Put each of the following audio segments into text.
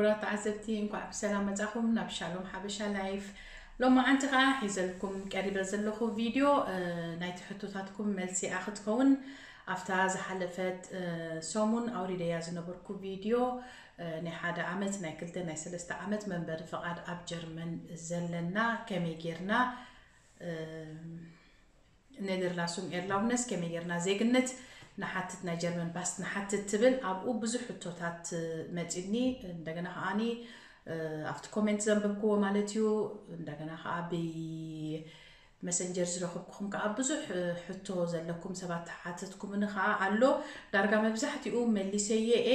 ክቡራት ተዓዘብቲ፣ እንኳዕ ብሰላም መጻኹም ናብ ሻሎም ሓበሻ ላይፍ። ሎማዓንቲ ከኣ ሒዘልኩም ቀሪበ ዘለኹ ቪድዮ፣ እ፣ ናይቲ ሕቶታትኩም መልሲ እያ ክትከውን። ኣብታ ዝሓለፈት፣ እ፣ ሰሙን ኣውሪደያ ዝነበርኩ ቪድዮ፣ እ፣ ናይ ሓደ ዓመት፣ ናይ ክልተ፣ ናይ ሰለስተ ዓመት መንበሪ ፍቓድ ኣብ ጀርመን ዘለና ከመይ ጌርና፣ እ፣ ኔደርላሱንግ ኤርላውነስ ከመይ ጌርና ዜግነት ንሓትት፣ ናይ ጀርመን ባስ ንሓትት ትብል፣ ኣብኡ ብዙሕ ሕቶታት መጺኒ። እንደገና ከኣኒ፣ እ፣ ኣብቲ ኮሜንት ዘንበብክዎ ማለት እዩ። እንደገና ከኣ ብመሰንጀር ዝረኸብኩኹም ከኣ ብዙሕ፣ እ፣ ሕቶ ዘለኩም ሰባት ሓተትኩምኒ ከኣ ኣሎ። ዳርጋ መብዛሕትኡ መሊሰየ እየ።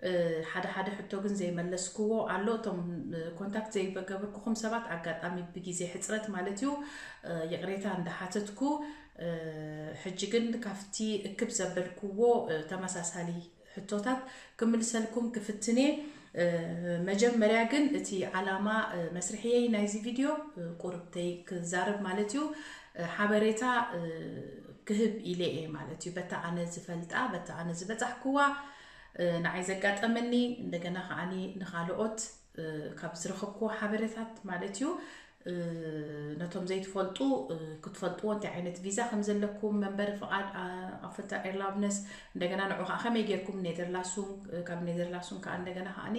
እ፣ ሓደ ሓደ ሕቶ ግን ዘይመለስክዎ ኣሎ። እቶም፣ እ፣ ኮንታክት ዘይገበርኩኹም ሰባት፣ ኣጋጣሚ ብግዜ ሕጽረት ማለት እዩ፣ እ፣ ይቕሬታ እንዳሓተትኩ፣ እ፣ ሕጂ ግን ካብቲ እክብ ዘበልክዎ፣ እ፣ ተመሳሳሊ ሕቶታት ክምልሰልኩም ክፍትን እየ። እ፣ መጀመርያ ግን እቲ ዓላማ፣ እ፣ መስርሕየይ ናይዚ ቪድዮ፣ እ፣ ቁርብተይ ክዛረብ ማለት እዩ፣ እ፣ ሓበሬታ፣ እ፣ ክህብ ኢለ እየ ማለት እዩ። በታ ኣነ ዝፈልጣ፣ በታ ኣነ ዝበጻሕክዋ፣ እ፣ ንዓይ ዘጋጠመኒ፣ እንደገና ከኣኒ ንኻልኦት፣ እ፣ ካብ ዝረኸብክዎ ሓበሬታት ማለት እዩ። እ፣ ነቶም ዘይትፈልጡ፣ እ፣ ክትፈልጥዎ፣ እንታይ ዓይነት ቪዛ ከም ዘለኩም፣ መንበሪ ፍቓድ፣ ኣ-፣ ኣፈታ ኤርላብነስ፣ እንደገና ንዑ ከኣ ከመይ ጌርኩም ኔደርላሱንግ፣ እ፣ ካብ ኔደርላሱንግ ከኣ እንደገና ከኣኒ፣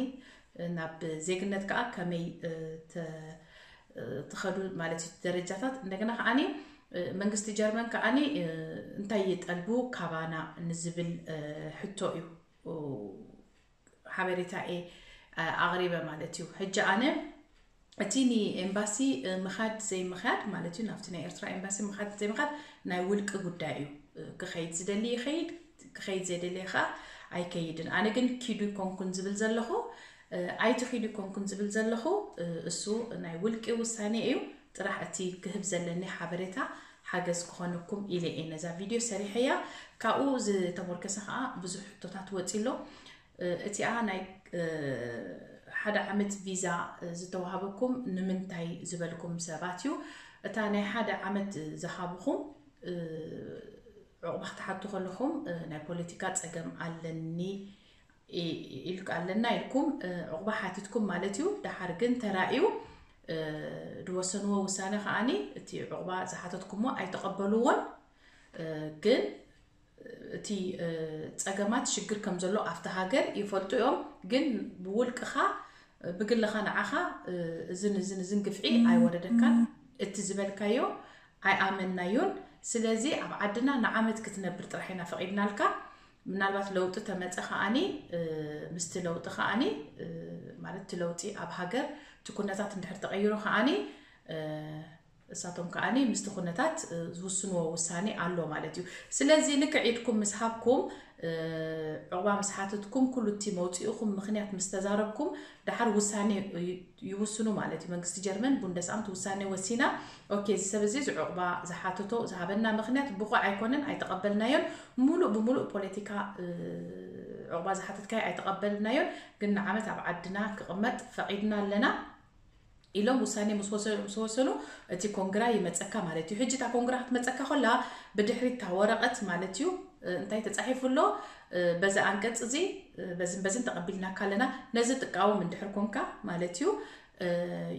እ፣ ናብ ዜግነት ከኣ ከመይ፣ እ፣ ተ-፣ እ፣ ትኸዱ ማለት እዩ፣ ደረጃታት። እንደገና ከኣኒ፣ እ፣ መንግስቲ ጀርመን ከኣኒ፣ እ፣ እንታይ ይጠልቡ ካባና ንዝብል፣ እ፣ ሕቶ እዩ፣ እ፣ ሓበሬታ እየ፣ እ፣ ኣቕሪበ ማለት እዩ። ሕጂ ኣነ እቲ ንኤምባሲ፣ እ፣ ምኻድ ዘይምኻድ ማለት እዩ፣ ናብቲ ናይ ኤርትራ ኤምባሲ ምኻድ ዘይምኻድ ናይ ውልቂ ጉዳይ እዩ። እ፣ ክኸይድ ዝደሊ ይኸይድ፣ ክኸይድ ዘይደሊ ከኣ ኣይከይድን። ኣነ ግን ኪዱ ይኮንኩን ዝብል ዘለኹ፣ እ፣ ኣይትኺዱ ይኮንኩን ዝብል ዘለኹ፣ እ፣ እሱ ናይ ውልቂ ውሳኔ እዩ። ጥራሕ እቲ ክህብ ዘለኒ ሓበሬታ ሓገዝ ክኾነኩም ኢለ እየ ነዛ ቪድዮ ሰሪሐያ። ካብኡ ዝተሞርከሰ ከኣ ብዙሕ ሕቶታት ወጺ ኣሎ። እ፣ እቲኣ ናይ፣ እ፣ ሓደ ዓመት ቪዛ፣ እ፣ ዝተዋሃበኩም ንምንታይ ዝበልኩም ሰባት እዩ። እታ ናይ ሓደ ዓመት ዝሃብኹም፣ እ፣ ዕቑባ ክትሓቱ ከለኹም፣ እ፣ ናይ ፖለቲካ ጸገም ኣለኒ ኢ-፣ ኢልክ-፣ ኣለና ኢልኩም፣ እ፣ ዕቑባ ሓቲትኩም ማለት እዩ። ደሓር ግን ተራእዩ፣ እ፣ ዝወሰንዎ ውሳነ ከኣኒ እቲ ዕቑባ ዝሓተትኩሞ ኣይተቐበልዎን። እ፣ ግን እቲ፣ እ፣ ጸገማት ሽግር ከም ዘሎ ኣብቲ ሃገር ይፈልጡ እዮም። ግን ብውልቅኻ፣ እ፣ ብግልኻ ንዓኻ፣ እ፣ እዝን እዝን እዝን ግፍዒ ኣይወረደካን። እቲ ዝበልካዮ ኣይኣመንናዮን። ስለዚ ኣብ ዓድና ንዓመት ክትነብር ጥራሕ ኢና ፈቒድናልካ። ምናልባት ለውጢ ተመጸ ከኣኒ፣ እ፣ ምስቲ ለውጢ ከኣኒ፣ እ፣ ማለት እቲ ለውጢ ኣብ ሃገር እቲ ኩነታት እንድሕር ተቐይሩ ከኣኒ፣ እ፣ እሳቶም ከኣኒ ምስቲ ኩነታት፣ እ፣ ዝውስንዎ ውሳኔ ኣሎ ማለት እዩ። ስለዚ ልክዕ ኢድኩም ምስ ሃብኩም፣ እ፣ ዕቑባ ምስ ሓተትኩም፣ ኩሉ እቲ መውጽኢኹም ምኽንያት ምስ ተዛረብኩም፣ ደሓር ውሳኔ ይ-፣ ይውስኑ ማለት እዩ። መንግስቲ ጀርመን ቡንደስኣምት ውሳኔ ወሲና፣ ኦኬ፣ እዚ ሰብ እዚ እዚ ዕቑባ ዝሓተቶ ዝሃበና ምኽንያት ብቑዕ ኣይኮነን፣ ኣይተቐበልናዮን፣ ሙሉእ ብሙሉእ ፖለቲካ፣ እ፣ ዕቑባ ዝሓተትካዮ ኣይተቐበልናዮን፣ ግን ንዓመት ኣብ ዓድና ክቕመጥ ፈቒድና ኣለና ኢሎም ውሳኔ ምስ ወሰ-፣ ምስ ወሰኑ፣ እቲ ኮንግራ ይመጸካ ማለት እዩ። ሕጂ እታ ኮንግራ ክትመጸካ ከላ፣ ብድሕሪት እታ ወረቐት ማለት እዩ፣ እ፣ እንታይ ተጻሒፉ ኣሎ? እ፣ በዚ ኣንቀጽ እዚ፣ እ፣ በዝን በዝን ተቐቢልናካ ኣለና። ነዚ ትቃወም እንድሕር ኮንካ ማለት እዩ፣ እ፣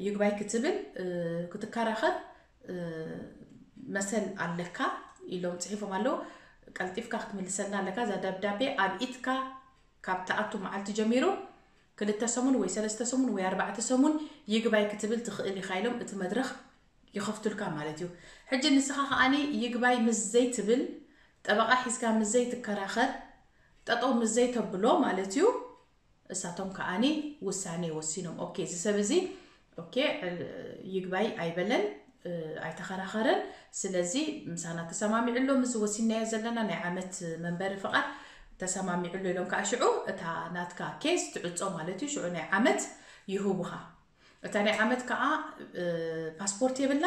ይግባይ ክትብል፣ እ፣ ክትከራኸር፣ እ፣ መሰል ኣለካ ኢሎም ጽሒፎም ኣለዉ። ቀልጢፍካ ክትምልሰልና ኣለካ። እዛ ደብዳቤ ኣብ ኢድካ ካብ ትኣቱ መዓልቲ ጀሚሩ፣ ክልተ ሰሙን ወይ ሰለስተ ሰሙን ወይ ኣርባዕተ ሰሙን ይግባይ ክትብል ትኽእል ኢኻ ኢሎም እቲ መድረኽ ይኸፍቱልካ ማለት እዩ። ሕጂ ንስኻ ከኣኒ ይግባይ ምስ ዘይትብል፣ ጠበቓ ሒዝካ ምስ ዘይትከራኸር፣ ጠጠው ምስ ዘይተብሎ ማለት እዩ፣ እሳቶም ከኣኒ ውሳኔ ወሲኖም። ኦኬ፣ እዚ ሰብ እዚ፣ ኦኬ፣ እ፣ ይግባይ ኣይበለን፣ እ፣ ኣይተኸራኸረን። ስለዚ ምሳና ተሰማሚዑ ኣሎ፣ ምስ ወሲናዮ ዘለና ናይ ዓመት መንበሪ ፍቓድ ተሰማሚዑ ኣሎ ኢሎም ከኣ ሽዑ እታ ናትካ ኬስ ትዕጾ ማለት እዩ። ሽዑ ናይ ዓመት ይህቡኻ። እታ ናይ ዓመት ከኣ፣ እ፣ ፓስፖርት የብላ፣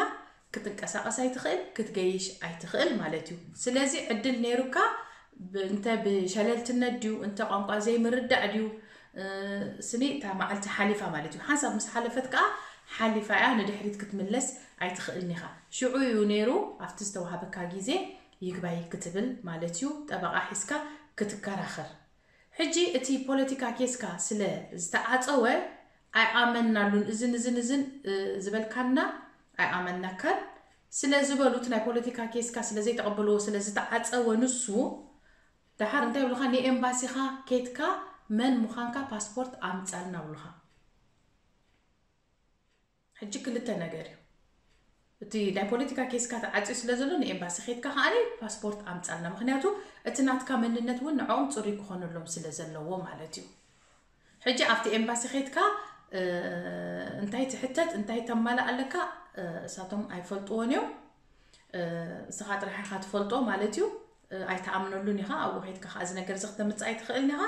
ክትንቀሳቐስ ኣይትኽእል፣ ክትገይሽ ኣይትኽእል ማለት እዩ። ስለዚ ዕድል ነይሩካ፣ ብ-፣ እንተ ብሸለልትነት ድዩ፣ እንተ ቋንቋ ዘይምርዳእ ድዩ፣ እ፣ ስኒ እታ መዓልቲ ሓሊፋ ማለት እዩ። ሓንሳብ ምስ ሓለፈት ከኣ ሓሊፋ እያ፣ ንድሕሪት ክትምለስ ኣይትኽእልን ኢኻ። ሽዑ እዩ ነይሩ ኣብቲ ዝተዋሃበካ ግዜ ይግባይ ክትብል ማለት እዩ፣ ጠበቓ ሒዝካ ክትከራኸር። ሕጂ እቲ ፖለቲካ ኬስካ ስለ ዝተዓጸወ፣ ኣይኣመንናሉን፣ እዝን እዝን እዝን ዝበልካና ኣይኣመንናካን ስለ ዝበሉት፣ ናይ ፖለቲካ ኬስካ ስለ ዘይተቐበልዎ፣ ስለ ዝተዓፀወ ንሱ፣ ደሓር እንታይ ይብሉኻ? ንኤምባሲኻ ኬድካ መን ምዃንካ ፓስፖርት ኣምፃልና ይብሉኻ። ሕጂ ክልተ ነገር እዩ። እቲ ናይ ፖለቲካ ኬስካ ተዓፅዩ ስለ ዘሎ ንኤምባሲ ኬድካ ከዓኒ ፓስፖርት ኣምፃልና። ምክንያቱ እቲ ናትካ መንነት እውን ንዕኦም ፅሩይ ክኾነሎም ስለ ዘለዎ ማለት እዩ። ሕጂ ኣብቲ ኤምባሲ ኬድካ እንታይ ትሕተት እንታይ ተማልእ ኣለካ እሳቶም ኣይፈልጥዎን እዮም። እስኻ ጥራሕ ኢኻ ትፈልጦ ማለት እዩ። ኣይተኣምነሉን ኢኻ። ኣብኡ ኬድካ ከዓ እዚ ነገር እዚ ክተምፅእ ኣይትኽእልን ኢኻ።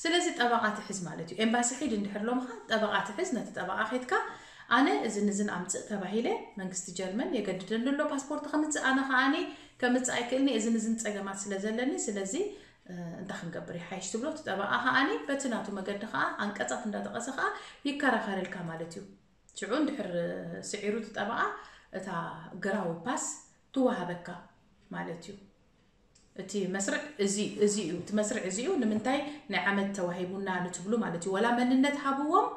ስለዚ ጠበቓ ትሕዝ ማለት እዩ። ኤምባሲ ሒድ እንድሕር ሎምኻ ጠበቓ ትሕዝ። ነቲ ጠበቓ ኬድካ ኣነ እዝን እዝን ኣምፅእ ተባሂለ መንግስቲ ጀርመን የገድደኒ ኣሎ ፓስፖርት ከምፅእ። ኣነ ከዓኒ ከምፅእ ኣይክእልኒ እዝን እዝን ፀገማት ስለ ዘለኒ ስለዚ እንታይ ክንገብር ይሓይሽ ትብሎ። እቲ ጠበቓ ከዓኒ በቲ ናቱ መገዲ ከዓ ኣንቀፃት እንዳጠቐሰ ከዓ ይከራኸረልካ ማለት እዩ። ሽዑ እንድሕር ስዒሩ እቲ ጠበቓ እታ ግራዊ ፓስ ትወሃበካ ማለት እዩ። እቲ መስርዕ እዚ እዚ እዩ እቲ መስርዕ እዚ እዩ። ንምንታይ ናይ ዓመት ተዋሂቡና ንትብሉ ማለት እዩ። ወላ መንነት ሃብዎም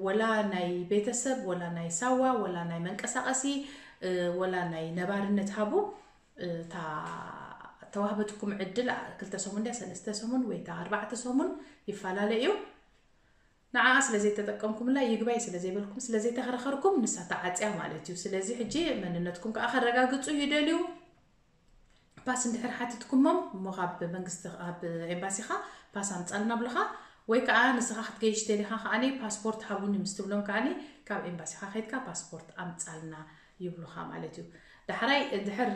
ወላ ናይ ቤተሰብ ወላ ናይ ሳዋ ወላ ናይ መንቀሳቐሲ ወላ ናይ ነባርነት ሃቡ። እታ ተዋህበትኩም ዕድል ክልተ ሰሙን ድያ ሰለስተ ሰሙን ወይ እታ ኣርባዕተ ሰሙን ይፈላለ እዩ። ንዓኣ ስለ ዘይተጠቀምኩምላ ይግባይ ስለ ዘይበልኩም ስለ ዘይተኸራኸርኩም ንሳ ተዓፅያ ማለት እዩ። ስለዚ ሕጂ መንነትኩም ከዓ ከረጋግፁ ይደልዩ። ፓስ እንድሕር ሓቲትኩሞም እሞ ካብ መንግስቲ ካብ ኤምባሲኻ ፓስ ኣምፃልና ብልኻ ወይ ከዓ ንስኻ ክትገይሽ ደሊኻ ከዓኒ ፓስፖርት ሃቡኒ ምስ ትብሎም ከዓኒ ካብ ኤምባሲኻ ከይድካ ፓስፖርት ኣምፃልና ይብሉኻ ማለት እዩ። ዳሕራይ እንድሕር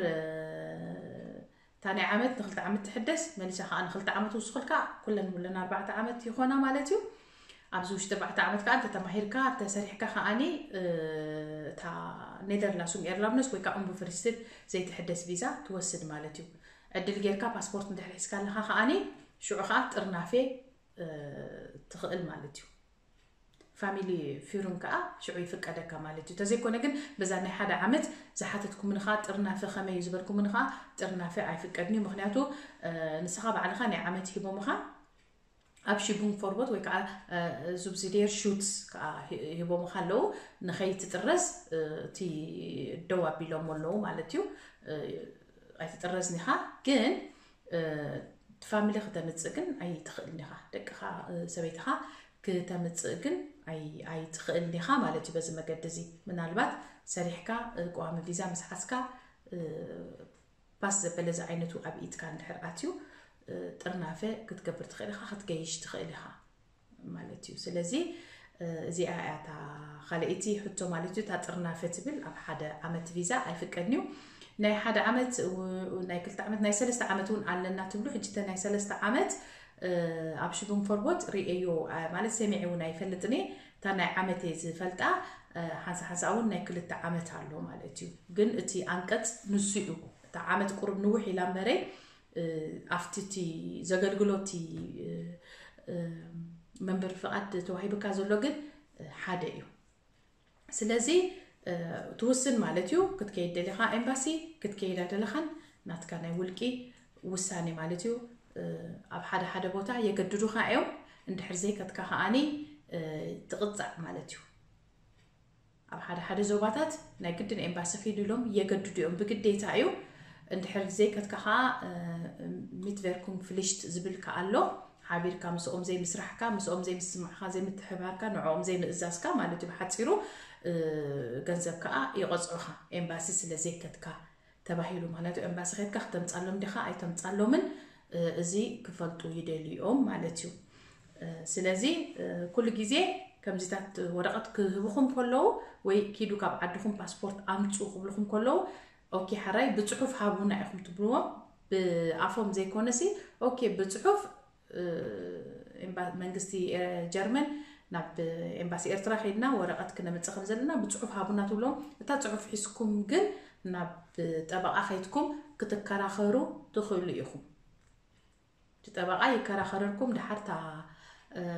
እታ ናይ ዓመት ንክልተ ዓመት ትሕደስ መሊሳ ከዓ ንክልተ ዓመት ውስኽልካ ኩለን ሙለን ኣርባዕተ ዓመት ይኾና ማለት እዩ። ኣብዚ ውሽጢ ኣርባዕተ ዓመት ከዓ እንተተማሂርካ ተሰሪሕካ ከዓኒ እታ ኔደርላሱም ኤርላብነስ ወይ ከዓ ኡምብፍሪስትድ ዘይትሕደስ ቪዛ ትወስድ ማለት እዩ። ዕድል ጌርካ ፓስፖርት እንድሕር ሒዝካ ኣለካ ከዓኒ ሽዑ ከዓ ጥርናፌ ትኽእል ማለት እዩ። ፋሚሊ ፊሩን ከዓ ሽዑ ይፍቀደካ ማለት እዩ። ተዘይኮነ ግን በዛ ናይ ሓደ ዓመት ዝሓተትኩምኒ ከዓ ጥርናፈ ከመይ እዩ ዝበልኩምኒ ከዓ ጥርናፈ ኣይፍቀድን እዩ። ምክንያቱ ንስኻ ባዕልኻ ናይ ዓመት ሂቦምኻ ኣብ ሽቡን ፎርቦት ወይ ከዓ ዙብዚዴር ሹትስ ከዓ ሂቦምኻ ኣለዉ። ንኸይትጥረዝ እቲ ደው ኣቢሎም ኣለዉ ማለት እዩ። ኣይትጥረዝን ኢኻ ግን ፋሚሊ ክተምፅእ ግን ኣይትኽእልን ኢኻ። ደቅኻ ሰበይትኻ ክተምፅእ ግን ኣይትኽእልን ኢኻ ማለት እዩ። በዚ መገዲ እዚ ምናልባት ሰሪሕካ ቋሚ ቪዛ ምስ ሓዝካ ፓስ ዘበለ ዝዓይነቱ ኣብ ኢድካ እንድሕር ኣትዩ ጥርናፈ ክትገብር ትኽእል ኢኻ፣ ክትገይሽ ትኽእል ኢኻ ማለት እዩ። ስለዚ እዚኣ እያ እታ ካልኣይቲ ሕቶ ማለት እዩ። እታ ጥርናፈ ትብል ኣብ ሓደ ዓመት ቪዛ ኣይፍቀድን እዩ። ናይ ሓደ ዓመት ናይ ክልተ ዓመት ናይ ሰለስተ ዓመት እውን ኣለና ትብሉ። ሕጂ እተ ናይ ሰለስተ ዓመት ኣብ ሽቡን ፈርቦት ርእየዮ ማለት ሰሚዐ እውን ኣይፈልጥን እየ። እታ ናይ ዓመት እየ ዝፈልጣ። ሓንሳ ሓንሳ እውን ናይ ክልተ ዓመት ኣሎ ማለት እዩ። ግን እቲ ኣንቀፅ ንሱ እዩ። እታ ዓመት ቁሩብ ንውሕ ኢላ እምበረ ኣብቲ እቲ ዘገልግሎቲ መንበሪ ፍቓድ ተዋሂብካ ዘሎ ግን ሓደ እዩ። ስለዚ ትውስን ማለት እዩ። ክትከይድ ደሊኻ ኤምባሲ ክትከይዳ ደለኻን ናትካ ናይ ውልቂ ውሳኔ ማለት እዩ። ኣብ ሓደ ሓደ ቦታ የገድዱኻ እዮም። እንድሕር ዘይከትካ ከዓኒ ትቕፃዕ ማለት እዩ። ኣብ ሓደ ሓደ ዞባታት ናይ ግድን ኤምባሲ ኪዱ ኢሎም የገድዱ እዮም፣ ብግዴታ እዩ። እንድሕር ዘይከትካ ከዓ ሚትቨርኩም ፍሊሽት ዝብል ከዓ ኣሎ። ሓቢርካ ምስኦም ዘይምስራሕካ፣ ምስኦም ዘይምስምዕካ፣ ዘይምትሕባርካ፣ ንዕኦም ዘይምእዛዝካ ማለት እዩ። ብሓፂሩ ገንዘብ ከዓ ይቐፅዑኻ ኤምባሲ ስለ ዘይከትካ ተባሂሉ። ምክንያቱ ኤምባሲ ከድካ ክተምፃሎም ዲኻ ኣይተምፃሎምን እዚ ክፈልጡ ይደልዮም ማለት እዩ። ስለዚ ኩሉ ግዜ ከምዚታት ወረቐት ክህብኹም ከለዉ ወይ ኪዱ ካብ ዓድኹም ፓስፖርት ኣምፁ ክብልኹም ከለዉ ኦኬ ሓራይ ብፅሑፍ ሃቡና ኢኹም ትብልዎም። ብኣፎም ዘይኮነሲ ኦኬ ብፅሑፍ መንግስቲ ጀርመን ናብ ኤምባሲ ኤርትራ ከይድና ወረቐት ክነምፅእ ከም ዘለና ብፅሑፍ ሃቡና ትብሎም። እታ ፅሑፍ ሒዝኩም ግን ናብ ጠበቓ ከይድኩም ክትከራኸሩ ትኽእሉ ኢኹም። እቲ ጠበቓ ይከራኸረልኩም። ድሓር እታ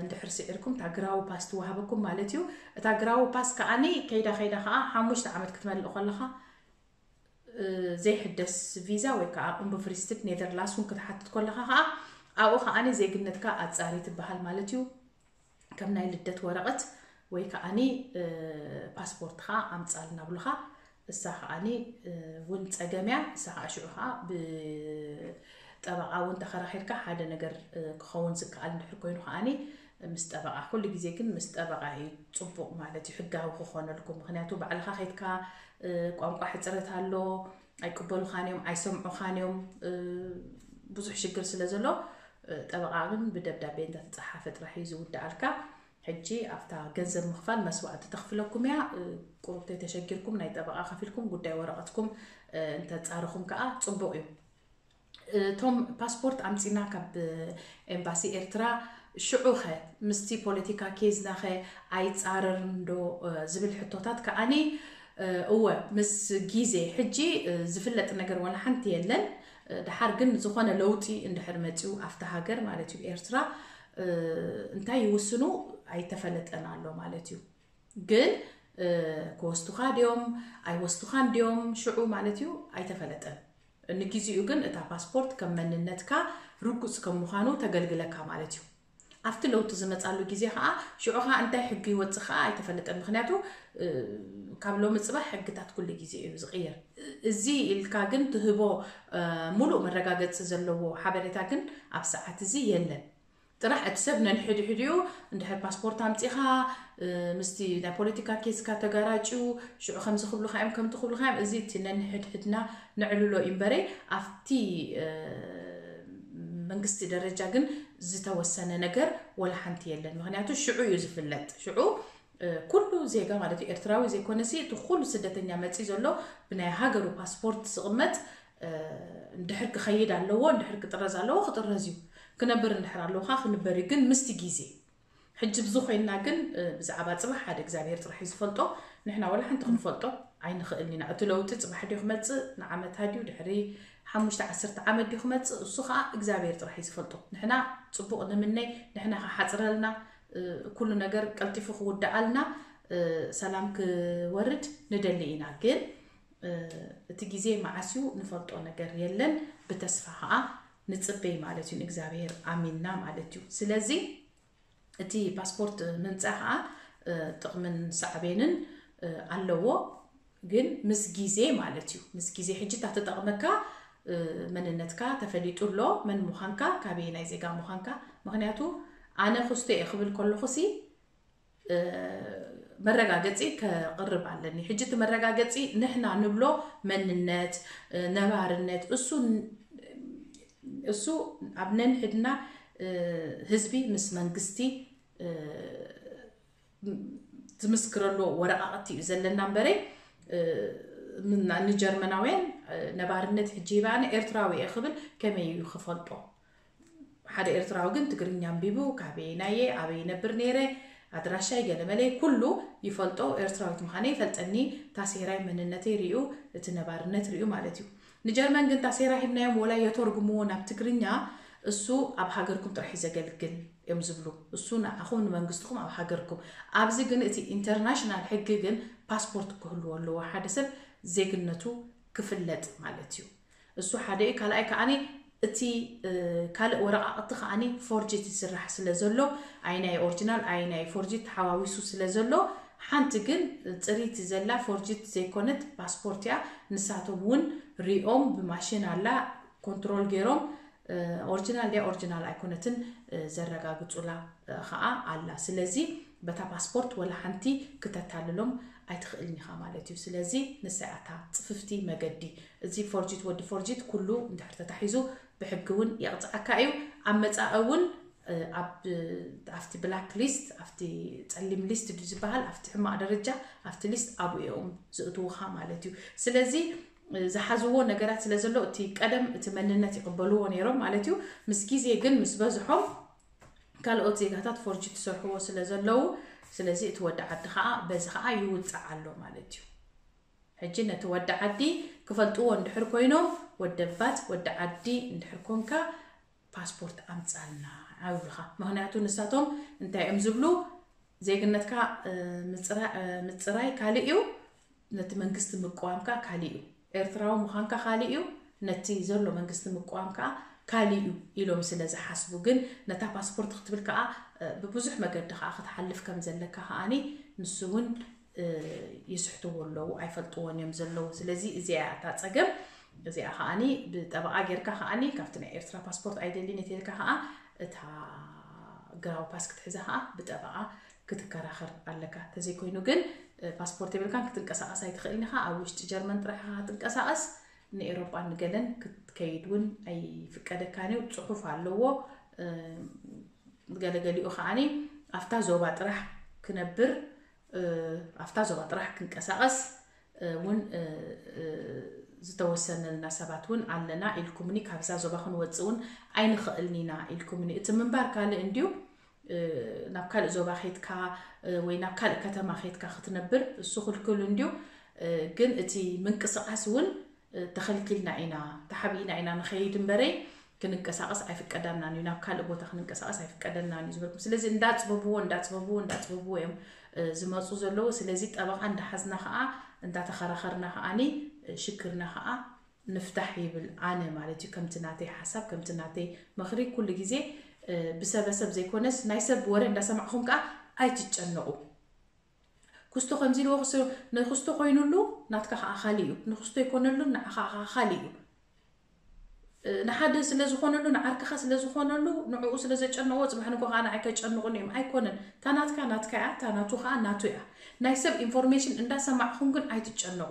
እንድሕር ስዒርኩም እታ ግራዊ ፓስ ትወሃበኩም ማለት እዩ። እታ ግራዊ ፓስ ከዓኒ ከይዳ ከይዳ ከዓ ሓሙሽተ ዓመት ክትመልእ ከለኻ ዘይሕደስ ቪዛ ወይ ከዓ ኡምብፍሪስትድ ኔደርላንድስ እውን ክትሓትት ከለኻ ከዓ ኣብኡ ከዓኒ ዜግነትካ ኣፃሪ ትበሃል ማለት እዩ። ከም ናይ ልደት ወረቐት ወይ ከዓኒ ፓስፖርትኻ ኣምፃልና ብሉኻ። እሳ ከዓኒ እውን ፀገም እያ። እሳ ከዓ ሽዑ ከዓ ብጠበቃ እውን ተኸራኺርካ ሓደ ነገር ክኸውን ዝከኣል እንድሕር ኮይኑ ከዓኒ ምስ ጠበቃ፣ ኩሉ ግዜ ግን ምስ ጠበቃ እዩ ፅቡቅ ማለት እዩ፣ ሕጋዊ ክኾነልኩም። ምክንያቱ ባዕልኻ ከይድካ ቋንቋ ሕፅረት ኣሎ፣ ኣይቅበሉኻን እዮም፣ ኣይሰምዑኻን እዮም፣ ብዙሕ ሽግር ስለ ዘሎ ጠበቃ ግን ብደብዳቤ እንተተፀሓፈ ጥራሕ እዩ ዝውዳኣልካ። ሕጂ ኣብታ ገንዘብ ምኽፋል መስዋዕቲ ተኽፍለኩም እያ። ቁሩብ ተተሸጊርኩም ናይ ጠበቃ ከፊልኩም ጉዳይ ወረቐትኩም እንተፃርኹም ከዓ ፅቡቅ እዩ። እቶም ፓስፖርት ኣምፂና ካብ ኤምባሲ ኤርትራ ሽዑኸ ምስቲ ፖለቲካ ኬዝናኸ ኣይፃረርን ዶ ዝብል ሕቶታት ከዓኒ እወ ምስ ግዜ ሕጂ ዝፍለጥ ነገር ዋላ ሓንቲ የለን። ድሓር ግን ዝኾነ ለውጢ እንድሕር መፂኡ ኣብቲ ሃገር ማለት እዩ ኤርትራ እንታይ ይውስኑ ኣይተፈለጠን ኣሎ ማለት እዩ። ግን ክወስዱኻ ድዮም ኣይወስዱኻን ድዮም ሽዑ ማለት እዩ ኣይተፈለጠን። ንግዜኡ ግን እታ ፓስፖርት ከም መንነትካ ርጉፅ ከም ምዃኑ ተገልግለካ ማለት እዩ። ኣብቲ ለውጢ ዝመፃሉ ግዜ ከዓ ሽዑ ከዓ እንታይ ሕጊ ይወፅእ ከዓ ኣይተፈለጠን። ምክንያቱ ካብ ሎሚ ፅባሕ ሕግታት ኩሉ ግዜ እዩ ዝቕየር። እዚ ኢልካ ግን ትህቦ ሙሉእ መረጋገፂ ዘለዎ ሓበሬታ ግን ኣብ ሰዓት እዚ የለን። ጥራሕ እቲ ሰብ ነንሕድሕዲኡ እንድሕር ፓስፖርት ኣምፂኻ ምስቲ ናይ ፖለቲካ ኬስካ ተጋራጭዩ ሽዑ ከምዚ ክብሉካ እዮም ከምቲ ክብሉካ እዮም፣ እዚ እቲ ነንሕድሕድና ነዕልሎ እዩ እምበረ ኣብቲ መንግስቲ ደረጃ ግን ዝተወሰነ ነገር ወላ ሓንቲ የለን። ምክንያቱ ሽዑ እዩ ዝፍለጥ። ሽዑ ኩሉ ዜጋ ማለት እዩ ኤርትራዊ ዘይኮነሲ እቲ ኩሉ ስደተኛ መፂ ዘሎ ብናይ ሃገሩ ፓስፖርት ዝቕመጥ እንድሕር ክኸይድ ኣለዎ፣ እንድሕር ክጥረዝ ኣለዎ ክጥረዝ እዩ። ክነብር እንድሕር ኣለዎ ከዓ ክንበር እዩ። ግን ምስቲ ግዜ ሕጂ ብዚ ኮይንና ግን ብዛዕባ ፅባሕ ሓደ እግዚኣብሔር ጥራሕ እዩ ዝፈልጦ። ንሕና ወላ ሓንቲ ክንፈልጦ ኣይንኽእልን ኢና። እቲ ለውጢ ፅባሕ ድዩ ክመፅእ ንዓመታ ድዩ ድሕሪ ሓሙሽተ ዓሰርተ ዓመት ድዩ ክመፅእ እሱ ከዓ እግዚኣብሔር ጥራሕ እዩ ዝፈልጦ። ንሕና ፅቡቕ ንምነይ፣ ንሕና ክሓፅረልና፣ ኩሉ ነገር ቀልጢፉ ክውዳኣልና፣ ሰላም ክወርድ ንደሊ ኢና። ግን እቲ ግዜ መዓስ እዩ ንፈልጦ ነገር የለን። ብተስፋ ከዓ ንፅበይ ማለት እዩ፣ ንእግዚኣብሔር ኣሚንና ማለት እዩ። ስለዚ እቲ ፓስፖርት ምምፃእ ከዓ ጥቕምን ሳዕቤንን ኣለዎ። ግን ምስ ግዜ ማለት እዩ፣ ምስ ግዜ ሕጂ እታ ተጠቕመካ መንነትካ ተፈሊጡ ኣሎ፣ መን ምዃንካ፣ ካበየናይ ዜጋ ምዃንካ። ምክንያቱ ኣነ ክስቶ እየ ክብል ከለኹሲ መረጋገፂ ከቕርብ ኣለኒ። ሕጂ እቲ መረጋገፂ ንሕና ንብሎ መንነት፣ ነባርነት እሱ እሱ ኣብ ነንሕድና ህዝቢ ምስ መንግስቲ ዝምስክረሉ ወረቃቕቲ እዩ ዘለና እምበረ ንጀርመናውያን ነባርነት ሕጂ ይበኣነ ኤርትራዊ እየ ክብል ከመይ እዩ ክፈልጦ? ሓደ ኤርትራዊ ግን ትግርኛ ኣንቢቡ ካበየናየ ኣበይ ይነብር ነይረ ኣድራሻይ ገለመለይ ኩሉ ይፈልጦ። ኤርትራዊት ምዃነ ይፈልጠኒ። ታሴራይ መንነተይ ሪኡ እቲ ነባርነት ሪኡ ማለት እዩ። ንጀርመን ግን ታሴራ ሂብናዮም ወላ የተርጉምዎ ናብ ትግርኛ እሱ ኣብ ሃገርኩም ጥራሕ እዩ ዘገልግል እዮም ዝብሉ። እሱ ንዓኹም ንመንግስትኹም ኣብ ሃገርኩም። ኣብዚ ግን እቲ ኢንተርናሽናል ሕጊ ግን ፓስፖርት ክህልዎ ኣለዎ ሓደ ሰብ ዜግነቱ ክፍለጥ ማለት እዩ። እሱ ሓደ እዩ። ካልኣይ ከዓኒ እቲ ካልእ ወረቃቅቲ ከዓኒ ፎርጅት ይስራሕ ስለ ዘሎ ኣይ ናይ ኦሪጂናል ኣይ ናይ ፎርጅት ተሓዋዊሱ ስለ ዘሎ ሓንቲ ግን ፅሪቲ ዘላ ፎርጅት ዘይኮነት ፓስፖርት እያ። ንሳቶም እውን ሪኦም ብማሽን ኣላ ኮንትሮል ገይሮም ኦሪጂናል ድያ ኦሪጂናል ኣይኮነትን ዘረጋግፁላ ከዓ ኣላ። ስለዚ በታ ፓስፖርት ወላ ሓንቲ ክተታልሎም ኣይትኽእልን ኢኻ ማለት እዩ። ስለዚ ንሳ እያ እታ ፅፍፍቲ መገዲ። እዚ ፎርጅት ወዲ ፎርጅት ኩሉ እንድሕር ተታሒዙ ብሕጊ እውን የቕፅዓካ እዩ። ኣብ መፃኢ እውን ኣብቲ ብላክ ሊስት ኣብቲ ፀሊም ሊስት ድዩ ዝበሃል ኣብቲ ሕማቕ ደረጃ ኣብቲ ሊስት ኣብኡ እዮም ዝእትውኻ ማለት እዩ። ስለዚ ዝሓዝዎ ነገራት ስለ ዘሎ እቲ ቀደም እቲ መንነት ይቕበልዎ ነይሮም ማለት እዩ። ምስ ግዜ ግን ምስ በዝሖም ካልኦት ዜጋታት ፎርጅት ዝሰርሕዎ ስለ ዘለዉ ስለዚ እቲ ወዲ ዓዲ ከዓ በዚ ከዓ ይውፃዕ ኣሎ ማለት እዩ። ሕጂ ነቲ ወዲ ዓዲ ክፈልጥዎ እንድሕር ኮይኖም ወደባት ወዲ ዓዲ እንድሕር ኮንካ ፓስፖርት ኣምፃልና ይብሉኻ። ምክንያቱ ንሳቶም እንታይ እዮም ዝብሉ ዜግነትካ ምፅራይ ካልእ እዩ፣ ነቲ መንግስቲ ምቅዋምካ ካልእ እዩ። ኤርትራዊ ምዃንካ ካልእ እዩ፣ ነቲ ዘሎ መንግስቲ ምቅዋም ከዓ ካልእ እዩ ኢሎም ስለ ዝሓስቡ፣ ግን ነታ ፓስፖርት ክትብል ከዓ ብብዙሕ መገዲ ከዓ ክትሓልፍ ከም ዘለካ ከዓኒ ንሱ እውን ይስሕትዎ ኣለዉ፣ ኣይፈልጥዎን እዮም ዘለዉ። ስለዚ እዚኣ እታ ፀገም እዚኣ ከዓኒ ብጠበቓ ጌርካ ከዓኒ ካብቲ ናይ ኤርትራ ፓስፖርት ኣይደልን እየ ተልካ ከዓ እታ ግራዊ ፓስ ክትሕዛ ከዓ ብጠበቓ ክትከራኸር ኣለካ። ተዘይኮይኑ ግን ፓስፖርት የብልካን ክትንቀሳቐስ ኣይትኽእልን ኢኻ። ኣብ ውሽጢ ጀርመን ጥራሕ ኢኻ ክትንቀሳቐስ፣ ንኤሮጳ ንገለን ክትከይድ እውን ኣይፍቀደካን እዩ። ፅሑፍ ኣለዎ። ገለገሊኡ ከዓኒ ኣብታ ዞባ ጥራሕ ክነብር፣ ኣብታ ዞባ ጥራሕ ክንቀሳቐስ እውን ዝተወሰነልና ሰባት እውን ኣለና ኢልኩምኒ፣ ካብዛ ዞባ ክንወፅእ እውን ኣይንኽእልን ኢና ኢልኩምኒ። እቲ ምንባር ካልእ እንድዩ፣ ናብ ካልእ ዞባ ኬድካ ወይ ናብ ካልእ ከተማ ኬድካ ክትነብር እሱ ክልክል እንድዩ። ግን እቲ ምንቅስቓስ እውን ተኸልኪልና ኢና፣ ተሓቢእና ኢና ንኸይድ እምበረይ ክንንቀሳቐስ ኣይፍቀደናን እዩ፣ ናብ ካልእ ቦታ ክንንቀሳቐስ ኣይፍቀደናን እዩ ዝበልኩም። ስለዚ እንዳፅበብዎ እንዳፅበብዎ እንዳፅበብዎ እዮም ዝመፁ ዘለዉ። ስለዚ ጠበቓ እንዳሓዝና ከዓ እንዳተኸራኸርና ከዓኒ ሽግርና ከዓ ንፍታሕ ይብል ኣነ ማለት እዩ። ከምቲ ናተይ ሓሳብ ከምቲ ናተይ ምኽሪ ኩሉ ግዜ ብሰበሰብ ዘይኮነስ ናይ ሰብ ወረ እንዳሰማዕኹም ከዓ ኣይትጨነቑ። ክስቶ ከምዚ ኢልዎ ንክስቶ ኮይኑሉ ናትካ ከዓ ካሊ እዩ፣ ንክስቶ ይኮነሉ ንዓኻ ከዓ ካሊ እዩ። ንሓደ ስለ ዝኾነሉ ንዓርክኻ ስለ ዝኾነሉ ንዕኡ ስለ ዘጨነቕዎ ፅባሕ ንጎ ከዓ ንዓይ ከጨንቑን እዮም። ኣይኮነን። እታ ናትካ ናትካ እያ፣ እታ ናቱ ከዓ ናቱ እያ። ናይ ሰብ ኢንፎርሜሽን እንዳሰማዕኹም ግን ኣይትጨነቑ።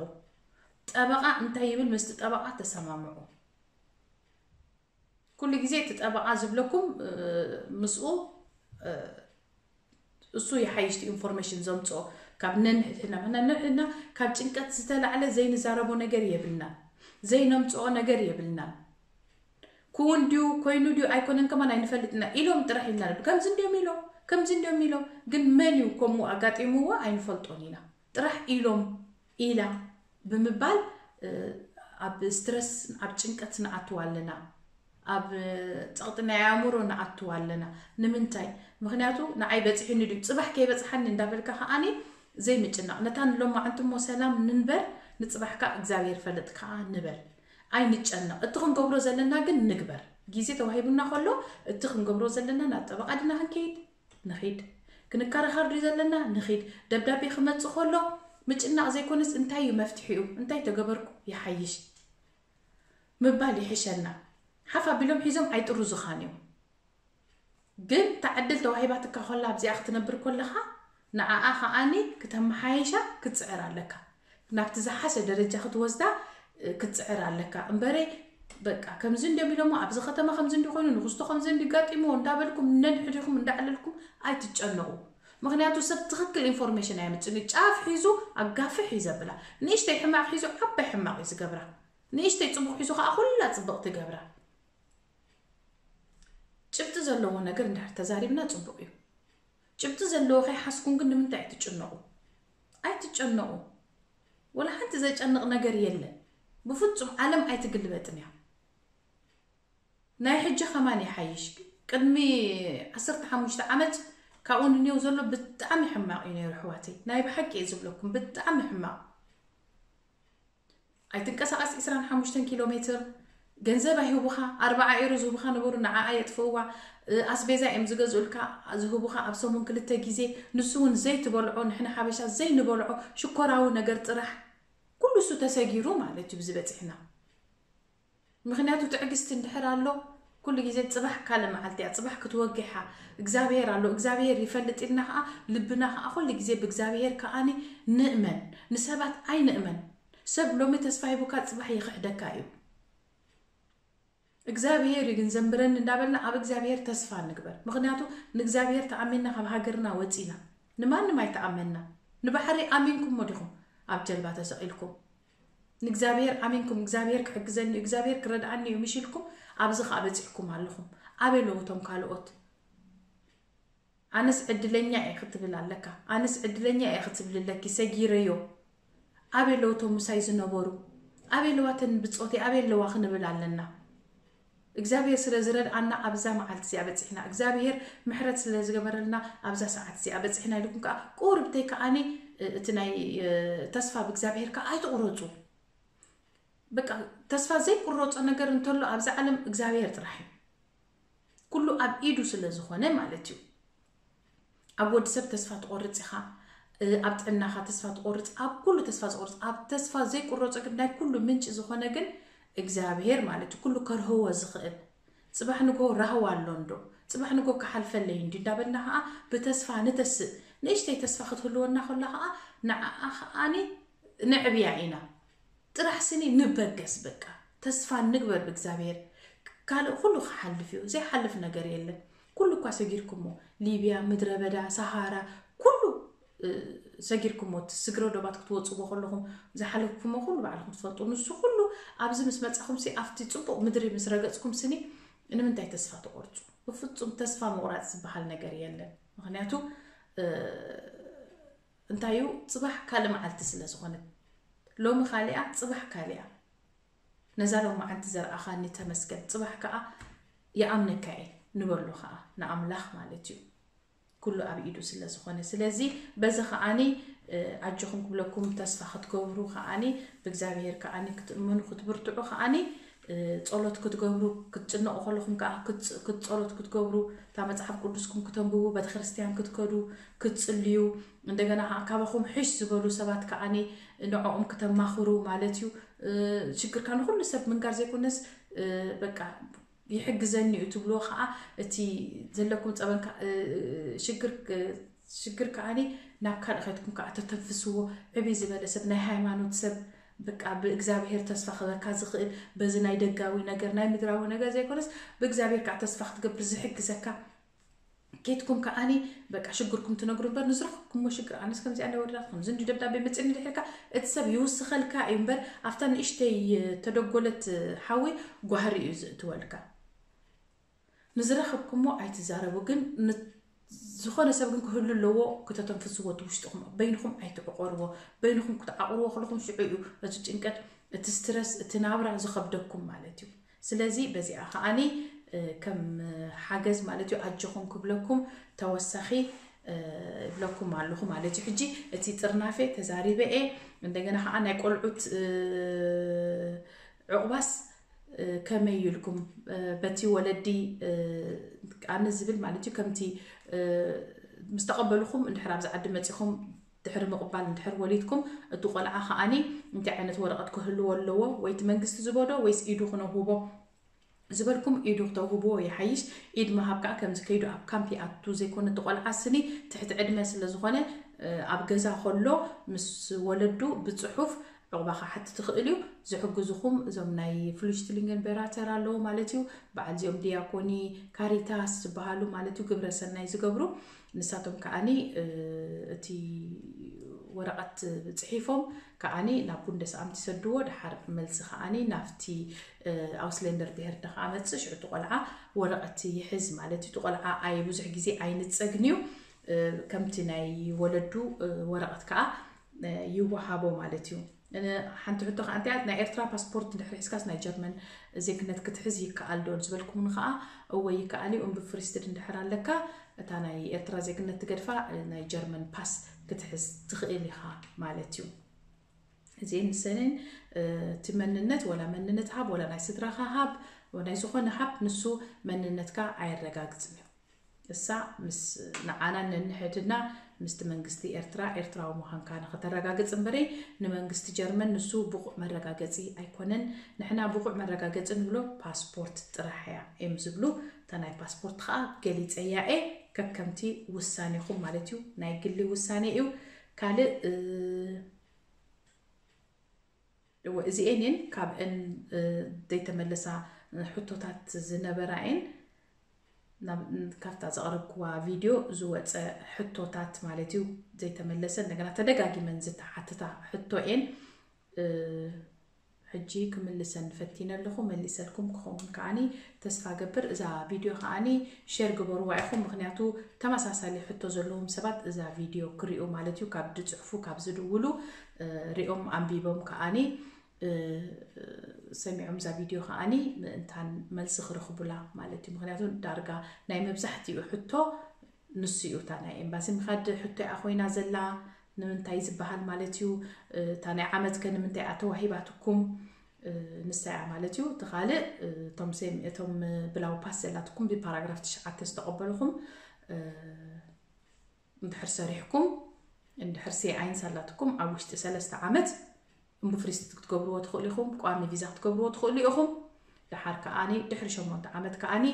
ጠበቓ እንታይ ይብል ምስቲ ጠበቓ ተሰማምዑ። ኩሉ ግዜ እቲ ጠበቓ ዝብለኩም ምስኡ እሱ ይሓይሽ ኢንፎርሜሽን ዘምፅኦ ካብ ነንሕድሕድና። ምክንያቱ ነንሕድሕድና ካብ ጭንቀት ዝተላዕለ ዘይንዛረቦ ነገር የብልናን፣ ዘይነምፅኦ ነገር የብልናን። ክውን ድዩ ኮይኑ ድዩ ኣይኮነን ከማን ኣይንፈልጥና ኢሎም ጥራሕ ኢልና ነዱ። ከምዚ እንዲዮም ኢሎም ከምዚ እንዲዮም ኢሎም፣ ግን መን እዩ ከምኡ ኣጋጢምዎ ኣይንፈልጦን ኢና። ጥራሕ ኢሎም ኢላ ብምባል ኣብ ስትረስ ኣብ ጭንቀት ንኣትዋ ኣለና፣ ኣብ ፀቕጢ ናይ ኣእምሮ ንኣትዋ ኣለና። ንምንታይ? ምክንያቱ ንዓይ በፂሑኒ ድዩ ፅባሕ ከይበፅሓኒ እንዳበልካ ከዓኒ ዘይምጭናቕ። ነታ ንሎማዓንቲ እሞ ሰላም ንንበር፣ ንፅባሕካ እግዚኣብሔር ፈልጥ ከዓ ንበል። ኣይንጨነቕ። እቲ ክንገብሮ ዘለና ግን ንግበር። ግዜ ተዋሂቡና ከሎ እቲ ክንገብሮ ዘለና ናብ ጠበቓ ድና ክንከይድ ንኺድ። ክንከራኸር ድዩ ዘለና ንኺድ። ደብዳቤ ክመጽእ ከሎ ምጭናቕ ዘይኮነስ እንታይ እዩ መፍትሒኡ፣ እንታይ ተገበርኩ ይሓይሽ ምባል ይሕሸና። ሓፍ ኣቢሎም ሒዞም ኣይጥርዙኻን እዮም። ግን እታ ዕድል ተዋሂባትካ ከላ ኣብዚኣ ክትነብር ከለኻ ንዓኣ ከዓኒ ክተመሓይሻ ክትፅዕር ኣለካ። ናብቲ ዝሓሸ ደረጃ ክትወስዳ ክትፅዕር ኣለካ እምበረ በቃ ከምዚ እንዲዮም ኢሎሞ ኣብዚ ከተማ ከምዚ እንዲ ኮይኑ ንክስቶ ከምዚ እንዲ ጋጢምዎ እንዳበልኩም ነንሕዲኹም እንዳዕለልኩም ኣይትጨነቑ። ምክንያቱ ሰብ ትኽክል ኢንፎርሜሽን ኣየምፅን እዩ። ጫፍ ሒዙ ኣጋፍሕ እዩ ዘብላ። ንእሽተይ ሕማቕ ሒዙ ዓባይ ሕማቕ እዩ ዝገብራ። ንእሽተይ ፅቡቕ ሒዙ ከዓ ኩላ ፅብቕ ትገብራ። ጭብጢ ዘለዎ ነገር እንድሕር ተዛሪብና ፅቡቕ እዩ። ጭብጢ ዘለዎ ከይሓዝኩም ግን ንምንታይ ኣይትጭነቑ? ኣይትጨነቑ። ወላ ሓንቲ ዘጨንቕ ነገር የለን። ብፍጹም ዓለም ኣይትግልበጥን እያ። ናይ ሕጂ ከማን ይሓይሽ። ቅድሚ ዓሰርተ ሓሙሽተ ዓመት ካብኡ ንኔው ዘሎ ብጣዕሚ ሕማቕ እዩ ነይሩ ኣሕዋተይ። ናይ ብሓቂ እየ ዝብለኩም፣ ብጣዕሚ ሕማቕ። ኣይትንቀሳቐስ ዕስራን ሓሙሽተን ኪሎ ሜትር። ገንዘብ ኣይህቡኻ፣ ኣርባዓ ኤሮ ዝህቡኻ ነበሩ፣ ንዓኣ የጥፍእዋ። ኣስቤዛ እዮም ዝገዝኡልካ፣ ዝህቡኻ ኣብ ሰሙን ክልተ ግዜ። ንሱ እውን ዘይትበልዖ፣ ንሕና ሓበሻ ዘይንበልዖ ሽኮራዊ ነገር ጥራሕ። ኩሉ እሱ ተሰጊሩ ማለት እዩ ብዚ በፂሕና። ምክንያቱ ትዕግስቲ እንድሕር ኣሎ ኩሉ ግዜ ፅባሕ ካልእ መዓልቲ እያ፣ ፅባሕ ክትወግሕ እያ። እግዚኣብሄር ኣሎ፣ እግዚኣብሄር ይፈልጥ ኢልና ከዓ ልብና ከዓ ኩሉ ግዜ ብእግዚኣብሄር ከዓኒ ንእመን፣ ንሰባት ኣይንእመን። ሰብ ሎሚ ተስፋ ሂቡካ ፅባሕ ይኽሕደካ እዩ። እግዚኣብሄር እዩ ግን ዘንብረኒ እንዳበልና ኣብ እግዚኣብሄር ተስፋ ንግበር። ምክንያቱ ንእግዚኣብሄር ተኣሚንና ካብ ሃገርና ወፂና ንማንም ኣይተኣመንና። ንባሕሪ ኣሚንኩሞ ዲኹም ኣብ ጀልባ ተሰቒልኩም? ንእግዚኣብሔር ኣሚንኩም እግዚኣብሔር ክሕግዘኒ እዩ እግዚኣብሔር ክረድኣኒ እዩ ምሽ ኢልኩም ኣብዚ ከዓ በፂሕኩም ኣለኹም። ኣበይ ኣለዉ እቶም ካልኦት? ኣነስ ዕድለኛ እየ ክትብል ኣለካ። ኣነስ ዕድለኛ እየ ክትብል ኣለኪ። ሰጊረዮ። ኣበይ ኣለዉ እቶም ምሳይ ዝነበሩ? ኣበይ ኣለዋ እተን ብፆተይ ኣበይ ኣለዋ ክንብል ኣለና። እግዚኣብሔር ስለ ዝረድኣና ኣብዛ መዓልቲ እዚኣ በፂሕና እግዚኣብሔር ምሕረት ስለ ዝገበረልና ኣብዛ ሰዓት እዚኣ በፂሕና ኢልኩም ከዓ ቁርብተይ ከዓኒ እቲ ናይ ተስፋ ብእግዚኣብሔር ከዓ ኣይትቁረፁ። በቃ ተስፋ ዘይቁረፆ ነገር እንተሎ ኣብዛ ዓለም እግዚኣብሔር ጥራሕ እዩ። ኣብ ኢዱ ስለ ዝኾነ ማለት እዩ። ኣብ ወዲ ሰብ ተስፋ ትቆርጽ ኢኻ፣ ኣብ ጥዕናኻ ተስፋ ትቆርጽ፣ ኣብ ኩሉ ተስፋ ዝቆርጽ፣ ኣብ ተስፋ ዘይቁረጾ ግን ናይ ኩሉ ምንጪ ዝኾነ ግን እግዚኣብሔር ማለት እዩ። ኩሉ ከርህዎ ዝኽእል ጽባሕ ንጎ ራህዋ ኣሎ እንዶ፣ ጽባሕ ንጎ ክሓልፈለይ እንዲ እንዳበልና ኸዓ ብተስፋ ንተስእ። ንእሽተይ ተስፋ ክትህልወና ከላ ኸዓ ንዓኣ ኸዓኒ ነዕብያ ኢና። ጥራሕ ስኒ ንበገስ በቃ። ተስፋ ንግበር ብእግዚኣብሔር። ካልእ ኩሉ ክሓልፍ እዩ። ዘይሓልፍ ነገር የለን። ኩሉ እኳ ሰጊርኩሞ፣ ሊብያ፣ ምድረ በዳ፣ ሰሃራ፣ ኩሉ ሰጊርኩሞ፣ እቲ ስግረ ዶባት ክትወፅዎ ከለኹም ዝሓለፍኩሞ ኩሉ ባዕልኹም ትፈልጡ። ንሱ ኩሉ ኣብዚ ምስ መፃኹም ሲ ኣብቲ ፅቡቕ ምድሪ ምስ ረገፅኩም ስኒ ንምንታይ ተስፋ ትቆርፁ? ብፍፁም ተስፋ ምቑራፅ ዝበሃል ነገር የለን። ምክንያቱ እንታይ እዩ፣ ፅባሕ ካልእ መዓልቲ ስለ ዝኾነት፣ ሎሚ ካሊኣ ፅባሕ ካሊኣ። ነዛ ሎም መዓልቲ ዘርኣኻኒ ተመስገን፣ ፅባሕ ከዓ ይኣምነካ እየ ንበሎ ከዓ ንኣምላኽ ማለት እዩ። ኩሉ ኣብ ኢዱ ስለ ዝኾነ፣ ስለዚ በዚ ከዓኒ ኣጆኹም ክብለኩም፣ ተስፋ ክትገብሩ ከዓኒ ብእግዚኣብሔር ከዓኒ ክትእምኑ ክትብርትዑ ከዓኒ ጸሎት ክትገብሩ፣ ክትጭነቑ ከለኹም ከዓ ክትጸሎት ክትገብሩ፣ እታ መጽሓፍ ቅዱስኩም ክተንብቡ፣ ቤተክርስትያን ክትከዱ፣ ክትጽልዩ፣ እንደገና ከዓ ካባኹም ሕሽ ዝበሉ ሰባት ከዓኒ ንዕኦም ክተማኽሩ ማለት እዩ። ሽግርካ ንኩሉ ሰብ ምንጋር ዘይኮነስ በቃ ይሕግዘኒ እዩ ትብልዎ ከዓ፣ እቲ ዘለኩም ፀበንካ ሽግር ሽግር ከዓኒ ናብ ካልእ ከይድኩም ከዓ ተተንፍስዎ። ዕብይ ዝበለ ሰብ፣ ናይ ሃይማኖት ሰብ፣ በቃ ብእግዚኣብሔር ተስፋ ክበካ ዝኽእል፣ በዚ ናይ ደጋዊ ነገር ናይ ምድራዊ ነገር ዘይኮነስ ብእግዚኣብሔር ከዓ ተስፋ ክትገብር ዝሕግዘካ ኬድኩም ከዓኒ በቃ ሽግርኩም ትነግሩ እምበር፣ ንዝረኸብኩሞ ሽግር ኣነስ ከምዚኣ ናይ ወረዳት ከምዚ እንዲ ደብዳቤ መፅእኒ ድሕርካ እቲ ሰብ ይውስኸልካ እዩ እምበር፣ ኣብታ ንእሽተይ ተደጎለት ሓዊ ጓህሪ እዩ ዝእትወልካ። ንዝረኸብኩሞ ኣይትዛረቡ፣ ግን ዝኾነ ሰብ ግን ክህሉ ኣለዎ። ክተተንፍስዎ፣ እቲ ውሽጥኹም በይንኹም ኣይትዕቆርዎ። በይንኹም ክትዓቑርዎ ከለኹም ሽዑ እዩ እቲ ጭንቀት፣ እቲ ስትረስ፣ እቲ ናብራ ዝኸብደኩም ማለት እዩ። ስለዚ በዚኣ ከዓኒ ከም ሓገዝ ማለት እዩ ኣጆኹም ክብለኩም ተወሳኺ ይብለኩም ኣለኹ ማለት እዩ። ሕጂ እቲ ጥርናፌ ተዛሪበ እየ። እንደገና ከዓ ናይ ቆልዑት ዕቑባስ ከመይ ኢልኩም በቲ ወለዲ ኣነ ዝብል ማለት እዩ፣ ከምቲ ምስ ተቐበልኹም እንድሕር ኣብዚ ዓዲ መፂኹም ድሕሪ ምቕባል እንድሕር ወሊድኩም፣ እቲ ቆልዓ ከዓኒ እንታይ ዓይነት ወረቐት ክህልዎ ኣለዎ፣ ወይ እቲ መንግስቲ ዝቦዶ ወይስ ኢዱ ክነውህቦ ዝበልኩም ኢዱ ክተውህብዎ ይሓይሽ። ኢድ ምሃብ ከዓ ከምዚ ከይዱ ኣብ ካምፕ ይኣቱ ዘይኮነ፣ እቲ ቆልዓ ስኒ ትሕቲ ዕድመ ስለ ዝኾነ ኣብ ገዛ ከሎ ምስ ወለዱ ብፅሑፍ ዕቑባ ክሓትት ይኽእል እዩ። ዝሕግዙኹም እዞም ናይ ፍሉሽትሊንግን ቤራተር ኣለዉ ማለት እዩ። በዓል እዚኦም ዲያኮኒ፣ ካሪታስ ዝበሃሉ ማለት እዩ፣ ግብረ ሰናይ ዝገብሩ። ንሳቶም ከዓኒ እቲ ወረቐት ፅሒፎም ከዓኒ ናብ ቡንደስኣምት ይሰድዎ። ድሓር መልሲ ከዓኒ ናብቲ ኣውስሌንደር ብሄር ደ ከዓ መፅእ። ሽዑ እቲ ቆልዓ ወረቐት ይሕዝ ማለት እዩ። እቲ ቆልዓ ኣይ ብዙሕ ግዜ ኣይንፀግን እዩ። ከምቲ ናይ ወለዱ ወረቐት ከዓ ይወሃቦ ማለት እዩ። ሓንቲ ሕቶ ከዓ እንታይ እያ፣ ናይ ኤርትራ ፓስፖርት እንድሕር ሒዝካስ ናይ ጀርመን ዜግነት ክትሕዝ ይከኣል ዶ ዝበልኩምኒ ከዓ፣ እወ ይከኣል እዩ። እምቢ ፍሪስትድ እንድሕር ኣለካ፣ እታ ናይ ኤርትራ ዜግነት ትገድፋ፣ ናይ ጀርመን ፓስ ክትሕዝ ትኽእል ኢኻ ማለት እዩ። እዚ ንሰንን እቲ መንነት፣ ወላ መንነት ሃብ፣ ወላ ናይ ስድራኻ ሃብ፣ ናይ ዝኾነ ሃብ፣ ንሱ መንነትካ ኣየረጋግጽን እዩ። እሳ ምስ ንዓና ነንሕድና ምስቲ መንግስቲ ኤርትራ ኤርትራዊ ምዃንካ ንኸተረጋግጽ እምበረይ፣ ንመንግስቲ ጀርመን ንሱ ብቑዕ መረጋገጺ ኣይኮነን። ንሕና ብቑዕ መረጋገጺ ንብሎ ፓስፖርት ጥራሕ እያ እዮም ዝብሉ። እታ ናይ ፓስፖርት ኸኣ ገሊጸያ እየ። ከከምቲ ውሳኔኹም ማለት እዩ፣ ናይ ግሊ ውሳኔ እዩ። ካልእ እወ፣ እዚኤን እየን ካብእን ዘይተመለሳ ሕቶታት ዝነበራ እየን። ካብታ ዘቕረብክዋ ቪድዮ ዝወፀ ሕቶታት ማለት እዩ። ዘይተመለሰ፣ እንደገና ተደጋጊመን ዝተሓትታ ሕቶ እየን። ሕጂ ክምልሰን ፈቲነ ኣለኹ። መሊሰልኩም ክኸውን ከዓኒ ተስፋ ገብር። እዛ ቪድዮ ከዓኒ ሼር ግበርዋ ኢኹም፣ ምኽንያቱ ተመሳሳሊ ሕቶ ዘለዎም ሰባት እዛ ቪድዮ ክሪኡ ማለት እዩ፣ ካብ ዝፅሕፉ፣ ካብ ዝድውሉ ሪኦም ኣንቢቦም ከዓኒ ሰሚዖም እዛ ቪድዮ ከዓኒ ምእንታን መልሲ ክረኽቡላ ማለት እዩ። ምኽንያቱ ዳርጋ ናይ መብዛሕትኡ ሕቶ ንሱ እዩ። እታ ናይ ኤምባሲ ምኻድ ሕቶ እያ ኮይና ዘላ፣ ንምንታይ ዝበሃል ማለት እዩ። እታ ናይ ዓመት ከ ንምንታይ እያ ተዋሂባትኩም? ንሳ እያ ማለት እዩ። እቲ ካልእ እቶም ሴም እቶም ብላው ፓስ ዘላትኩም ብፓራግራፍ ትሽዓተ ዝተቐበልኹም እንድሕር ሰሪሕኩም እንድሕር ሴ ኣይንስ ኣላትኩም ኣብ ውሽጢ ሰለስተ ዓመት እምቡ ፍሪስት ክትገብርዎ ትኽእሉ ኢኹም። ቋሚ ቪዛ ክትገብርዎ ትኽእሉ ኢኹም። ደሓር ከኣኒ ድሕሪ ሸሞንተ ዓመት ከኣኒ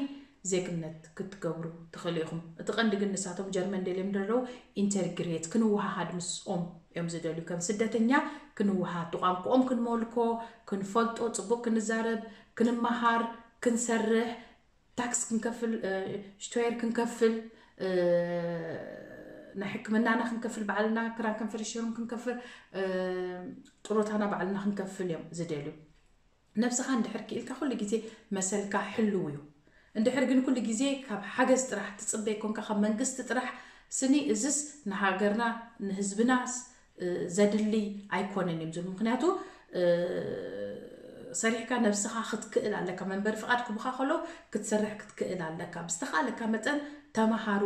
ዜግነት ክትገብሩ ትኽእሉ ኢኹም። እቲ ቀንዲ ግን ንሳቶም ጀርመን ደልዮም ዘለዉ ኢንተርግሬት ክንወሃሃድ ምስኦም እዮም ዝደልዩ። ከም ስደተኛ ክንወሃሃድ፣ ብቋንቋኦም ክንመልኮ፣ ክንፈልጦ፣ ጽቡቕ ክንዛረብ፣ ክንመሃር፣ ክንሰርሕ፣ ታክስ ክንከፍል፣ ሽቶየር ክንከፍል፣ ናይ ሕክምናና ክንከፍል ባዕልና፣ ክራንከንፈርሽሩም ክንከፍል፣ ጥሮታና ባዕልና ክንከፍል እዮም ዝደልዩ። ነብስኻ እንድሕር ክኢልካ ኩሉ ግዜ መሰልካ ሕልው እዩ። እንድሕር ግን ኩሉ ግዜ ካብ ሓገዝ ጥራሕ ትጽበይ ኮንካ ካብ መንግስቲ ጥራሕ ስኒ እዝስ ንሃገርና ንህዝብናስ ዘድሊ ኣይኮነን እዮም ዝብሉ። ምክንያቱ ሰሪሕካ ነብስኻ ክትክእል ኣለካ። መንበሪ ፍቓድ ክቡኻ ከሎ ክትሰርሕ ክትክእል ኣለካ። ብዝተኻለካ መጠን ተማሃሩ፣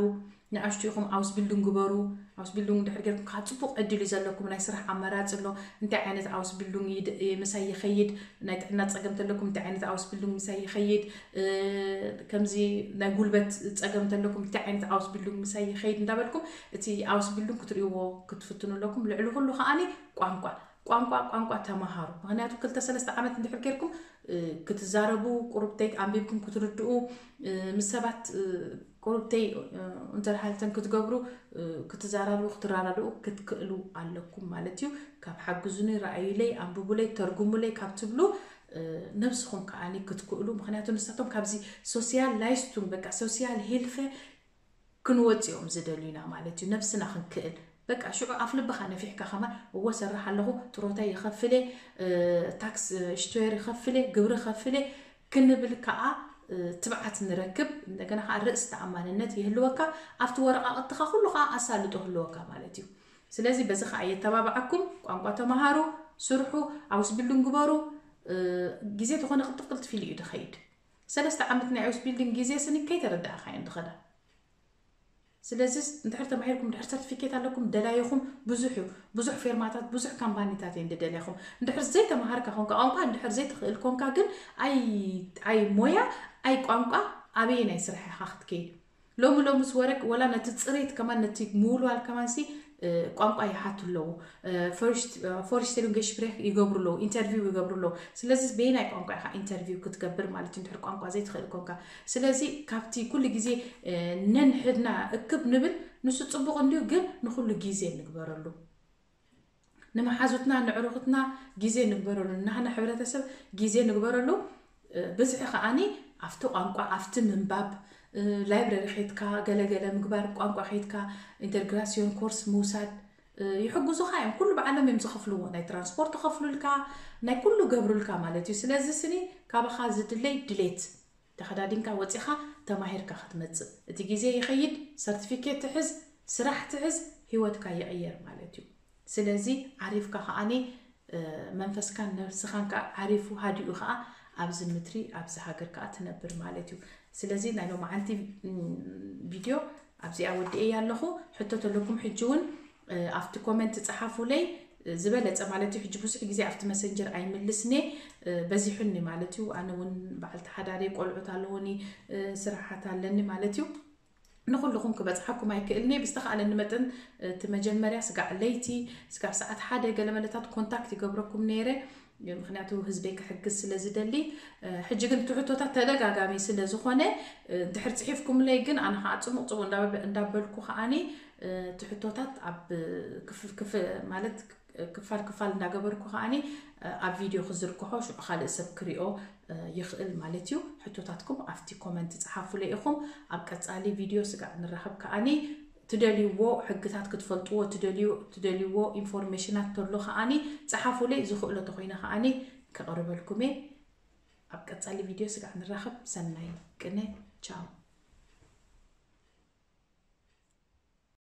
ንኣሽቱ ኢኹም ኣውስቢልዱንግ ግበሩ። ኣውስቢልዱንግ እንድሕር ጌርኩም ከዓ ፅቡቕ ዕድል እዩ ዘለኩም። ናይ ስራሕ ኣማራፂ ኣሎ። እንታይ ዓይነት ኣውስቢልዱንግ ምሳይ ይኸይድ፣ ናይ ጥዕና ፀገም ተለኩም እንታይ ዓይነት ኣውስቢልዱንግ ምሳይ ይኸይድ፣ ከምዚ ናይ ጉልበት ፀገም ተለኩም እንታይ ዓይነት ኣውስቢልዱንግ ምሳይ ይኸይድ እንዳበልኩም እቲ ኣውስቢልዱንግ ክትርእይዎ ክትፍትኑ ኣለኩም። ልዕሊ ኩሉ ከዓኒ ቋንቋ ቋንቋ ቋንቋ ተማሃሩ። ምክንያቱ ክልተ ሰለስተ ዓመት እንድሕር ጌርኩም ክትዛረቡ፣ ቁሩብተይ ኣንቢብኩም ክትርድኡ፣ ምስ ሰባት ቁሩብተይ እንተርሃልተን ክትገብሩ፣ ክትዛራርቡ ክትራዳድኡ ክትክእሉ ኣለኩም ማለት እዩ። ካብ ሓግዙኒ፣ ረኣዩለይ፣ ኣንብቡለይ፣ ተርጉሙለይ ካብ ትብሉ ነብስኹም ከዓኒ ክትክእሉ። ምክንያቱ ንሳቶም ካብዚ ሶሲያል ላይስቱን በቃ ሶሲያል ሄልፈ ክንወፅኦም ዝደልዩና ማለት እዩ። ነብስና ክንክእል በቃ ሽዑ ኣፍ ልብኻ ነፊሕካ ከማን እዎ ሰራሕ ኣለኹ፣ ጥሮታ ይኸፍለ፣ ታክስ ሽቶየር ይኸፍለ፣ ግብሪ ከፍለ ክንብል ከዓ ትብዓት ንረክብ። እንደገና ከዓ ርእስ ተኣማንነት ይህልወካ። ኣብቲ ወረቃቅትኻ ኩሉ ከዓ ኣሳልጦ ህልወካ ማለት እዩ። ስለዚ በዚ ከዓ የተባብዓኩም። ቋንቋ ተምሃሩ፣ ስርሑ፣ ኣውስቢልዱንግ ግበሩ። ግዜ ተኾነ ቅልጥፍ ቅልጥፍ ኢሉ እዩ ዝኸይድ። ሰለስተ ዓመት ናይ ኣውስቢልዱንግ ግዜ ስኒ ከይተረዳእካ እየን ዝኸዳ። ስለዚ እንድሕር ተማሂርኩም፣ እንድሕር ሰርቲፊኬት ኣለኩም፣ ደላይኹም ብዙሕ እዩ። ብዙሕ ፌርማታት፣ ብዙሕ ካምፓኒታት እየን ዝደልያኹም። እንድሕር ዘይተማሃርካ ኮንካ፣ ቋንቋ እንድሕር ዘይትኽእል ኮንካ ግን ኣይ ኣይ ሞያ ኣይ ቋንቋ ኣበየናይ ስራሕ ኢኻ ክትከይድ? ሎሚ ሎምስ ወረቅ ወላ ነቲ ጽሬት ከማን ነቲ ምውልዋል ከማን ሲ ቋንቋ ይሓቱ ኣለዉ። ፎርሽቴሉንገሽፕሬክ ይገብሩ ኣለዉ፣ ኢንተርቪው ይገብሩ ኣለዉ። ስለዚ በየናይ ቋንቋ ኢኻ ኢንተርቪው ክትገብር ማለት እዩ እንድሕር ቋንቋ ዘይትኽእል ኮንካ? ስለዚ ካብቲ ኩሉ ግዜ ነንሕድና እክብ ንብል፣ ንሱ ጽቡቕ እንድዩ፣ ግን ንኹሉ ግዜ ንግበረሉ። ንመሓዙትና ንዕሩኽትና ግዜ ንግበረሉ፣ ናህና ሕብረተሰብ ግዜ ንግበረሉ። ብዝሒ ከዓኒ ኣብቲ ቋንቋ ኣብቲ ምንባብ፣ ላይብረሪ ኸይድካ ገለገለ ምግባር፣ ቋንቋ ኸይድካ ኢንተርግራሲዮን ኮርስ ምውሳድ ይሕግዙኻ እዮም። ኩሉ ብዓለም እዮም ዝኸፍልዎ። ናይ ትራንስፖርት ይኸፍሉልካ፣ ናይ ኩሉ ገብሩልካ ማለት እዩ። ስለዚ ስኒ ካባኻ ዝድለይ ድሌት ተኸዳዲንካ ወፂኻ ተማሂርካ ክትመፅእ። እቲ ግዜ ይኸይድ፣ ሰርቲፊኬት ትሕዝ፣ ስራሕ ትሕዝ፣ ህይወትካ ይቕየር ማለት እዩ። ስለዚ ዓሪፍካ ከዓኒ መንፈስካን ነብስኻን ከዓ ዓሪፉ ሃዲኡ ከዓ ኣብዚ ምድሪ ኣብዚ ሃገር ከዓ ትነብር ማለት እዩ። ስለዚ ናይ ሎማዓንቲ ቪድዮ ኣብዚኣ ወዲኤያ ኣለኹ። ሕቶ ተለኩም ሕጂ እውን ኣብቲ ኮመንት ጸሓፉለይ ዝበለጸ ማለት እዩ። ሕጂ ብዙሕ ግዜ ኣብቲ መሰንጀር ኣይምልስኔ በዚሑኒ ማለት እዩ። ኣነ እውን በዓልቲ ሓዳሪ ቆልዑት ኣለውኒ ስራሓት ኣለኒ ማለት እዩ። ንኹልኹም ክበጽሓኩም ኣይክእልኒ። ብዝተኻእለኒ መጠን እቲ መጀመርያ ስጋዕ ለይቲ ስጋብ ሰዓት ሓደ ገለ መለታት ኮንታክት ይገብረኩም ነይረ። ምክንያቱ ህዝበይ ክሕግዝ ስለ ዝደሊ። ሕጂ ግን እቲ ሕቶታት ተደጋጋሚ ስለ ዝኾነ እንድሕር ጽሒፍኩምለይ ግን ኣነ ከዓ ጽሙቕ ጽሙቕ እንዳበልኩ ከዓኒ እቲ ሕቶታት ኣብ ክፍ ማለት ክፋል ክፋል እንዳገበርኩ ከዓኒ ኣብ ቪድዮ ክዝርግሖ ሽዑ ካልእ ሰብ ክሪኦ ይኽእል ማለት እዩ። ሕቶታትኩም ኣብቲ ኮመንት ጸሓፉለይ ኢኹም። ኣብ ቀጻሊ ቪድዮ ስጋዕ ንራኸብ ከዓኒ ትደልይዎ ሕግታት ክትፈልጥዎ ትደልዩ ትደልይዎ ኢንፎርሜሽናት ተሎ ከዓኒ ጸሓፉለይ። ዝኽእሎ ተኾይነ ከዓኒ ከቕርበልኩም እየ። ኣብ ቀጻሊ ቪድዮ ስጋዕ ንራኸብ። ሰናይ ቅነ። ቻው።